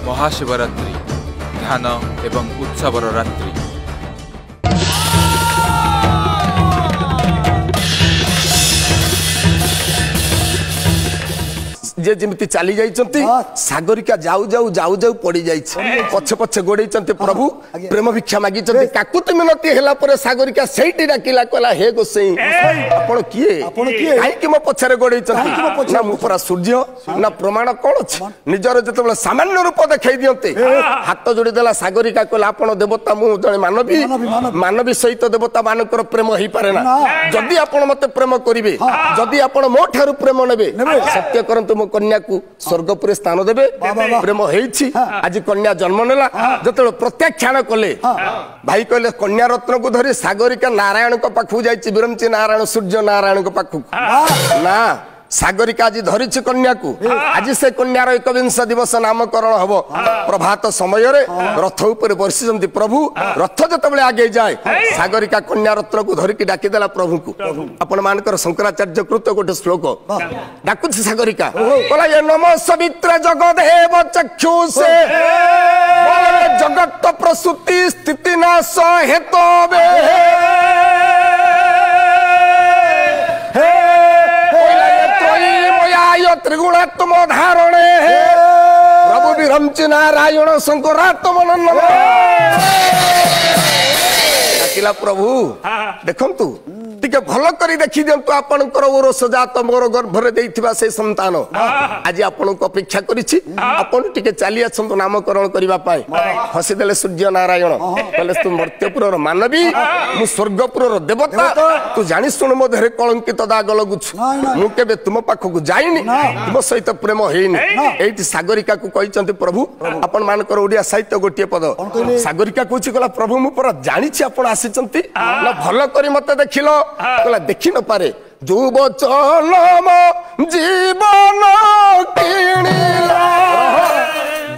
ମହାଶିବରାତ୍ରି ଧ୍ୟାନ ଏବଂ ଉତ୍ସବର ରାତ୍ରି। ଯେ ଯେମିତି ଚାଲି ଯାଇଛନ୍ତି, ସାଗରିକା ଯାଉ ଯାଉ ଯାଉ ଯାଉ ପଡି ଯାଇଛି। ପଛେ ପଛେ ଗୋଡେଇଛନ୍ତି ପ୍ରଭୁ, ପ୍ରେମ ଭିକ୍ଷା ମାଗିଛନ୍ତି। କାକୁତି ମିନତି ହେଲା ପରେ ସାଗରିକା ସେଇଠି ଡାକିଲା, କହିଲା, ହେ ଗୋସେଇଁ, ଆପଣ କିଏ? କାହିଁକି ମୋ ପଛରେ ଗୋଡେଇଛନ୍ତି? ନା ମୁଁ ପରା ସୂର୍ଯ୍ୟ। ନା ପ୍ରମାଣ କଣ ଅଛି? ନିଜର ଯେତେବେଳେ ସାମାନ୍ୟ ରୂପ ଦେଖେଇ ଦିଅନ୍ତି, ହାତ ଯୋଡି ଦେଲା ସାଗରିକା, କହିଲା, ଆପଣ ଦେବତା, ମୁଁ ଜଣେ ମାନବୀ। ମାନବୀ ସହିତ ଦେବତା ମାନଙ୍କର ପ୍ରେମ ହେଇପାରେ ନା। ଯଦି ଆପଣ ମତେ ପ୍ରେମ କରିବେ, ଯଦି ଆପଣ ମୋ ଠାରୁ ପ୍ରେମ ନେବେ, ସତ୍ୟ କରନ୍ତୁ, ମୋ କନ୍ୟାକୁ ସ୍ୱର୍ଗପୁରେ ସ୍ଥାନ ଦେବେ। ପ୍ରେମ ହେଇଛି, ଆଜି କନ୍ୟା ଜନ୍ମ ନେଲା। ଯେତେବେଳେ ପ୍ରତ୍ୟାଖ୍ୟାନ କଲେ ଭାଇ, କହିଲେ କନ୍ୟା ରତ୍ନକୁ ଧରି ସାଗରିକା ନାରାୟଣଙ୍କ ପାଖକୁ ଯାଇଛି, ବିରଞ୍ଚି ନାରାୟଣ, ସୂର୍ଯ୍ୟ ନାରାୟଣଙ୍କ ପାଖକୁ। ନା ସାଗରିକା ଆଜି ଧରିଛି କନ୍ୟାକୁ, ଆଜି ସେ କନ୍ୟାର ଏକବିଂଶ ଦିବସ ନାମକରଣ ହବ। ପ୍ରଭାତ ସମୟରେ ରଥ ଉପରେ ବସିଛନ୍ତି ପ୍ରଭୁ। ରଥ ଯେତେବେଳେ ଆଗେଇ ଯାଏ, ସାଗରିକା କନ୍ୟା ରତ୍ନକୁ ଧରିକି ଡାକିଦେଲା ପ୍ରଭୁଙ୍କୁ। ଆପଣ ମାନଙ୍କର ଶଙ୍କରାଚାର୍ଯ୍ୟ କୃତ ଗୋଟେ ଶ୍ଲୋକ ଡାକୁଛି ସାଗରିକା, କହିଲା, ଏ ନମ ସବିତ୍ର ଜଗଦେବ ଚକ୍ଷୁଷେ, ଜଗତ ପ୍ରସୂତି ସ୍ଥିତି ନାଶ ହେତବେ, ତ୍ରିଗୁଣାତ୍ମ ଧାରଣେ ପ୍ରଭୁ ବିରଞ୍ଚି ନାରାୟଣ ଶଙ୍କରାତ୍ମ। ଡାକିଲା, ପ୍ରଭୁ ଦେଖନ୍ତୁ, ଟିକେ ଭଲ କରି ଦେଖି ଦିଅନ୍ତୁ, ଆପଣଙ୍କର ଔରସ ଜାତ ମୋର ଗର୍ଭରେ ଦେଇଥିବା ସେ ସନ୍ତାନ ଆଜି ଆପଣଙ୍କୁ ଅପେକ୍ଷା କରିଛି, ଆପଣ ଟିକେ ଚାଲି ଆସନ୍ତୁ ନାମକରଣ କରିବା ପାଇଁ। ହସିଦେଲେ ସୂର୍ଯ୍ୟ ନାରାୟଣ, କହିଲେ, ତୁ ମର୍ତ୍ତ୍ୟପୁରର ମାନବୀ, ମୁଁ ସ୍ୱର୍ଗପୁରର ଦେବତା, ତୁ ଜାଣି ଶୁଣୁ ମୋ ଦେହରେ କଳଙ୍କିତ ଦାଗ ଲଗୁଛୁ। ମୁଁ କେବେ ତୁମ ପାଖକୁ ଯାଇନି, ତୁମ ସହିତ ପ୍ରେମ ହେଇନି। ଏଇଠି ସାଗରିକାକୁ କହିଛନ୍ତି ପ୍ରଭୁ, ଆପଣ ମାନଙ୍କର ଓଡିଆ ସାହିତ୍ୟ ଗୋଟିଏ ପଦ। ସାଗରିକା କହୁଛି, କହିଲା, ପ୍ରଭୁ ମୁଁ ପରା ଜାଣିଛି ଆପଣ ଆସିଛନ୍ତି। ନା ଭଲ କରି ମତେ ଦେଖିଲ? କହିଲା, ଦେଖି ନପାରେ। ଯୋଉ ବଚନ ଜୀବନ କିଣିଲା,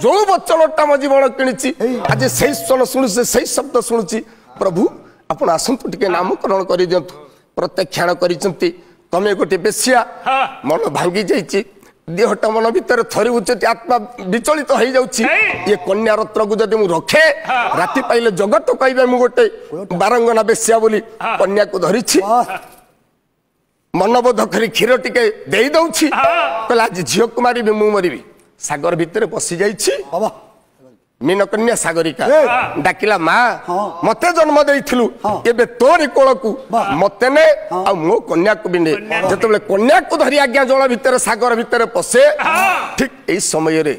ଯୋଉ ବଚନଟା ମୋ ଜୀବନ କିଣିଛି, ଆଜି ସେଇ ସ୍ୱର ଶୁଣୁଛି, ସେଇ ଶବ୍ଦ ଶୁଣୁଛି। ପ୍ରଭୁ ଆପଣ ଆସନ୍ତୁ, ଟିକେ ନାମକରଣ କରିଦିଅନ୍ତୁ। ପ୍ରତ୍ୟାଖ୍ୟାନ କରିଛନ୍ତି, ତମେ ଗୋଟେ ବେଶିଆ। ମନ ଭାଙ୍ଗି ଯାଇଛି, ଦେହଟା ମନ ଭିତରେ ଥରି ଉଠୁଛି, ଆତ୍ମା ବିଚଳିତ ହେଇଯାଉଛି। ଇଏ କନ୍ୟା ରତ୍ନକୁ ଯଦି ମୁଁ ରଖେ, ରାତି ପାଇଲେ ଜଗତ କହିବେ ମୁଁ ଗୋଟେ ବାରଙ୍ଗନା ବେଶ୍ୟା ବୋଲି। କନ୍ୟାକୁ ଧରିଛି, ମନବୋଧ କରି କ୍ଷୀର ଟିକେ ଦେଇ ଦଉଛି। କହିଲା, ଆଜି ଝିଅକୁ ମାରିବି, ମୁଁ ମରିବି। ସାଗର ଭିତରେ ବସି ଯାଇଛି ମୀନକନ୍ୟା ସାଗରିକା। ଡାକିଲା, ମା, ମତେ ଜନ୍ମ ଦେଇଥିଲୁ, ଏବେ ତୋରି କୋଳକୁ ମତେ ନେ ଆଉ ମୋ କନ୍ୟାକୁ ବି ନେ। ଯେତେବେଳେ କନ୍ୟାକୁ ଧରି ଆଜ୍ଞା ଜଳ ଭିତରେ ସାଗର ଭିତରେ ପଶେ, ଠିକ ଏଇ ସମୟରେ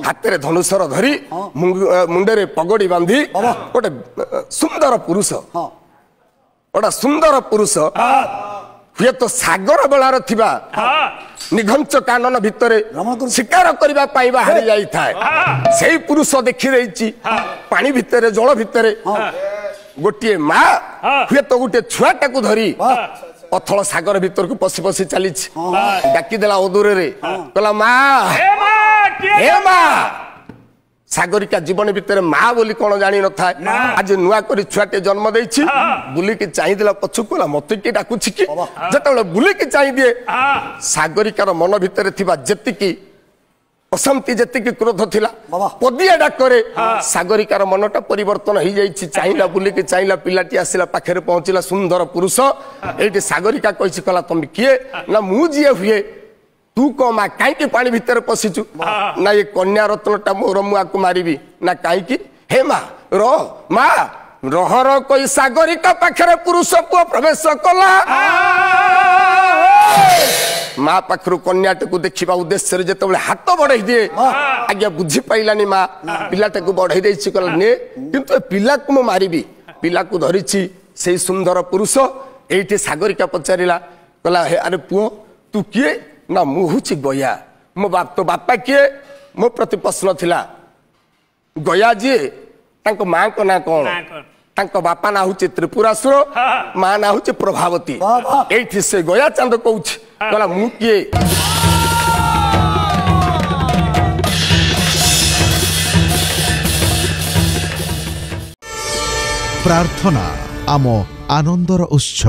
ହାତରେ ଧନୁସର ଧରି, ମୁଣ୍ଡରେ ପଗଡି ବାନ୍ଧି ଗୋଟେ ସୁନ୍ଦର ପୁରୁଷ, ଗୋଟେ ସୁନ୍ଦର ପୁରୁଷ, ହୁଏତ ସାଗର ବେଳାର ଥିବା ନିଘଞ୍ଚ କାନନ ଭିତରେ ଶିକାର କରିବା ପାଇଁ ବାହାରି ଯାଇଥାଏ। ସେଇ ପୁରୁଷ ଦେଖିଦେଇଛି ପାଣି ଭିତରେ, ଜଳ ଭିତରେ ଗୋଟିଏ ମା ହୁଏତ ଗୋଟିଏ ଛୁଆଟାକୁ ଧରି ଅଥଳ ସାଗର ଭିତରକୁ ପଶି ପଶି ଚାଲିଛି। ଡାକିଦେଲା ଅଦୂରରେ, କହିଲା, ମା, ହେ ମା। ସାଗରିକା ଜୀବନ ଭିତରେ ମା ବୋଲି କଣ ଜାଣିନଥାଏ, ଆଜି ନୂଆ କରି ଛୁଆଟେ ଜନ୍ମ ଦେଇଛି। ବୁଲିକି ଚାହିଁଦେଲା ପଛକୁ, କହିଲା, ମତେ କିଏ ଡାକୁଛି କି? ଯେତେବେଳେ ବୁଲିକି ଚାହିଁଦିଏ, ସାଗରିକାର ମନ ଭିତରେ ଥିବା ଯେତିକି ଅଶାନ୍ତି, ଯେତିକି କ୍ରୋଧ ଥିଲା, ପଦିଆ ଡାକରେ ସାଗରିକାର ମନଟା ପରିବର୍ତ୍ତନ ହେଇଯାଇଛି। ଚାହିଁଲା, ବୁଲିକି ଚାହିଁଲା, ପିଲାଟି ଆସିଲା, ପାଖରେ ପହଞ୍ଚିଲା ସୁନ୍ଦର ପୁରୁଷ। ଏଇଠି ସାଗରିକା କହିଛି, କହିଲା, ତମେ କିଏ? ନା ମୁଁ ଯିଏ ହୁଏ, ତୁ କହ ମା, କାହିଁକି ପାଣି ଭିତରେ ପଶିଛୁ? ନା ଏ କନ୍ୟା ରତ୍ନଟା ମୋର, ମୁଁ ଆକୁ ମାରିବି। ନା କାହିଁକି? ହେ ମା ର, ମା ରହ ର କହି ସାଗରିକା ପାଖରେ ପୁରୁଷ ପୁଅ ପ୍ରବେଶ କଲା। ମା ପାଖରୁ କନ୍ୟାଟାକୁ ଦେଖିବା ଉଦ୍ଦେଶ୍ୟରେ ଯେତେବେଳେ ହାତ ବଢେଇ ଦିଏ, ଆଜ୍ଞା ବୁଝି ପାଇଲାନି ମା, ପିଲାଟାକୁ ବଢେଇ ଦେଇଛି, କହିଲା ନେ, କିନ୍ତୁ ଏ ପିଲାକୁ ମୁଁ ମାରିବି। ପିଲାକୁ ଧରିଛି ସେଇ ସୁନ୍ଦର ପୁରୁଷ। ଏଇଠି ସାଗରିକା ପଚାରିଲା, କହିଲା, ହେ ଆରେ ପୁଅ, ତୁ କିଏ? ନା ମୁଁ ହଉଛି ଗୟା। ମୋ ବାପ, ତୋ ବାପା କିଏ? ମୋ ପ୍ରତି ପ୍ରଶ୍ନ ଥିଲା, ଗୟା ଯିଏ ତାଙ୍କ ମାଙ୍କ ନାଁ କଣ? ତାଙ୍କ ବାପା ନାଁ ହଉଛି ତ୍ରିପୁରାସୁର, ମା ନାଁ ହଉଛି ପ୍ରଭାବତୀ। ଏଇଠି ସେ ଗୟା ଚାନ୍ଦ କହୁଛି, କହିଲା, ମୁଁ କିଏ? ପ୍ରାର୍ଥନା ଆମ ଆନନ୍ଦର ଉତ୍ସ।